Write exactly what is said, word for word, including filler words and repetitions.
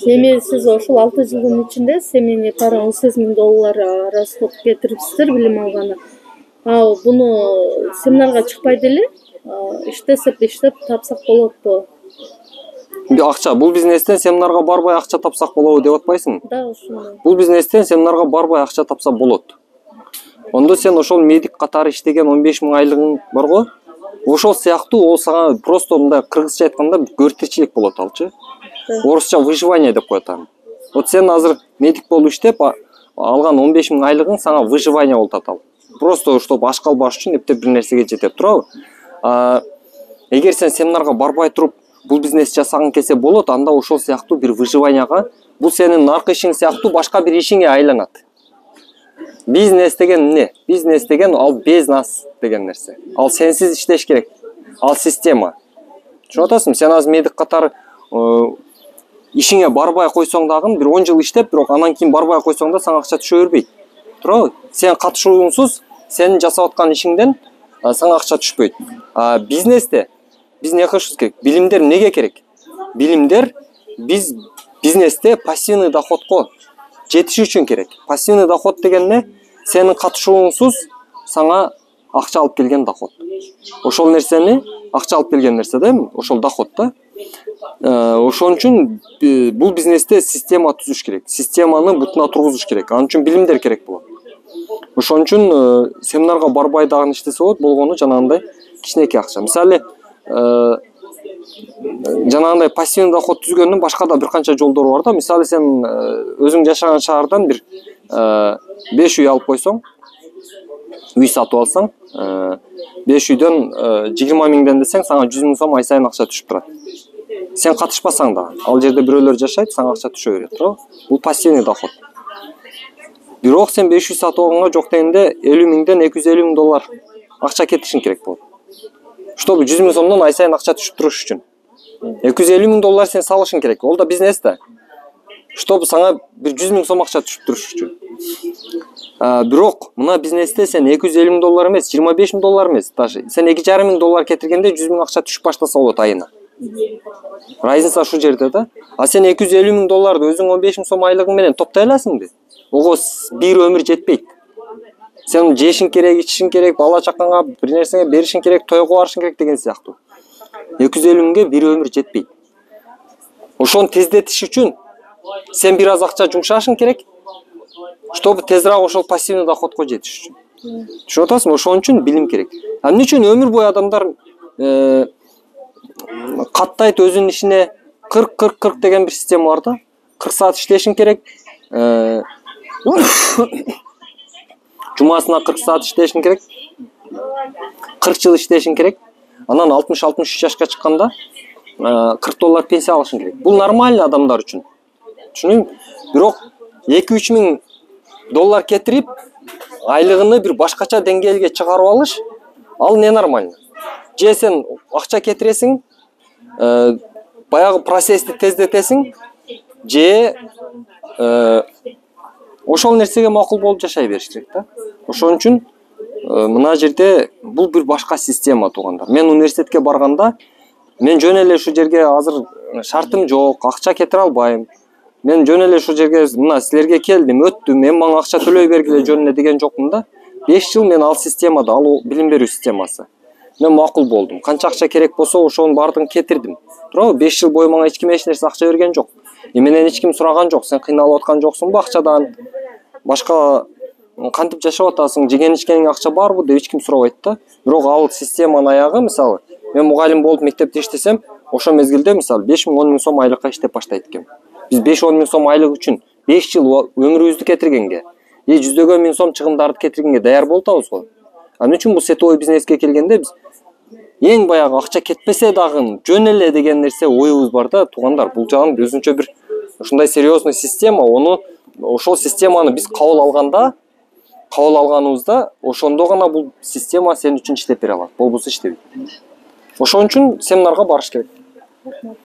Эми сиз ошол алты жылдын ичинде семейный пара он сегиз миң доллар расход кетириптсиздер билим алганы. А буну семинарга чыкпай деле иштесеп иштеп тапсак болотпу? Акча бул бизнестен семинарга барбай акча тапсак болобу деп атпайсыңбы? Да, ошондой. Бул бизнестен семинарга барбай акча тапса болот. Ондо сен ошол медик катары иштеген он беш миң айлыгың барго, ошол сыяктуу ол сага просто мындай кыргызча айтканда көртечилик болот алчы. Орусча выживание деп коет аны. Вот сен азыр медик болуп иштеп алган он беш миң айлыгың сага выживание болуп атат. Просто чтобы аш калбаш үчүн эптеп бир нерсеге жетет, туурабы? Эгер сен семинарга барбай туруп бул бизнес жасагың келсе болот, анда ошол сыяктуу бир выживанияга, бул сенин наркы ишиң сыяктуу башка бир ишиңе айланат. Бизнес деген эмне? Бизнес деген ал без нас деген нерсе. Ал сенсиз иштеш керек. Ал система. Түшүнүп атасыңбы? Сен азыр медик катары ишиңе барбай койсоң дагы бир он жыл иштеп, бирок анан кийин барбай койсоң да сага акча түшө бербейт. Туурабы? Сен катышуусуз сенин жасап аткан ишиңден сага акча түшпөйт. А бизнесте биз эмне кылышыбыз керек? Билимдер эмнеге керек? Билимдер биз бизнесте пассивный доходко жетиш үчүн керек. Пассивный доход деген эмне? Сенин катышуусуз сага акча алып келген доход. Ошол нерсени акча алып келген нерсе да, ошол доход да. Ошон үчүн бул бизнесте система түзүш керек. Системаны бутуна тургузуш керек. Ал үчүн билимдер керек болот. Ошон үчүн семинарга барбай дагы иштесе болот, болгону жанагындай кичинекей акча. Мисалы, жанагындай пассивный доход түзгөндүн башка да бир канча жолдору бар да. Мисалы, сен өзүң жашаган шаардан бир беш үй алып койсоң, үй сатып алсаң, беш үйдөн жыйырма миңден десең, сага жүз миң сом ай сайын акча түшүп турат. Сен катышпасаң да, ал жерде бирөөлөр жашайт, сага акча түшө берет, туурабы? Бул пассивный доход. Бирок сен беш үй сатып алганга жок дегенде элүү миңден эки жүз элүү миң доллар акча кетишиң керек болот. Чтобы жүз миң сомдон ай сайын акча түшүп туруш үчүн. эки жүз элүү миң доллар сен салышың керек. Ол да бизнес да. Чтобы сага бир жүз миң сом акча түшүп туруш үчүн. Бирок мына бизнесте сен эки жүз элүү миң доллар эмес, жыйырма беш миң доллар эмес, даже сен эки жарым миң доллар кетиргенде жүз миң акча түшүп баштаса болот айына. Разница ушул жерде да. А сен эки жүз элүү миң долларды өзүң он беш миң сом айлыгың менен топтой аласыңбы? Ого бир өмүр жетпейт. Сен жешиң керек, ичишиң керек, бала чакаңа бир нерсеге беришиң керек, тойго барышың керек деген сыяктуу. эки жүз элүү миңге бир өмүр жетпейт. Ошону тездетиш үчүн сен бир аз акча жумшашың керек, чтобы тезирээк ошол пассивный доходко жетиш үчүн. Түшүнүп атасыңбы? Ошон үчүн билим керек. А эмне үчүн өмүр бою адамдар каттайт өзүнүн ишине кырк кырк кырк деген бир система бар да. кырк саат иштешиң керек. Жумасына кырк саат иштешиң керек. кырк жыл иштешиң керек. Анан алтымыш алтымыш үч жашка чыкканда кырк доллар пенсия алышың керек. Бул нормально адамдар үчүн. Түшүнүңбү? Бирок эки үч миң доллар кетирип, айлыгыны бир башкача деңгээлге чыгарып алыш, ал не нормально. Же сен акча кетиресиң, баягы процессти тездетесиң, же ошол нерсеге макул болуп жашай бериш керек да. Ошон үчүн мына жерде бул бир башка система туугандар. Мен университетке барганда, мен жөн эле ушул жерге азыр шартым жок, акча кетире албайм. Мен жөн эле ушул жерге мына силерге келдим, өттүм, мен мага акча төлөй бергиле жөн эле деген жокмун да. беш жыл мен ал системада, ал билим берүү системасы. Мен макул болдум. Канча акча керек болсо, ошонун баардыгын кетирдим. Туурабы? беш жыл бою мага эч ким эч нерсе акча берген жок. Менен эч ким сураган жок. Сен кыйналып аткан жоксуңбу акчадан? Башка кантип жашап атасың? Жеген ичкениңе акча барбы деп эч ким сурабайт да. Бирок ал системанын аягы, мисалы, мен мугалим болуп мектепте иштесем, ошол мезгилде мисалы беш миң он миң сом айлыкка иштеп баштайт экем. Биз беш он миң сом айлык үчүн беш жыл өмүрүбүздү кетиргенге, же жүздөгөн миң сом чыгымдарды кетиргенге даяр болуп атабыз го. Ал үчүн бул сетовой бизнеске келгенде биз эң баягы акча кетпесе дагы жөн эле деген нерсе оюбуз бар да, туугандар. Бул жагын өзүнчө бир ушундай серьезный система, ону ошол системаны биз кабыл алганда, кабыл алганыбызда, ошондо гана бул система сен үчүн иштеп бере алат. Болбосо иштебейт. Ошон үчүн семинарга барыш керек.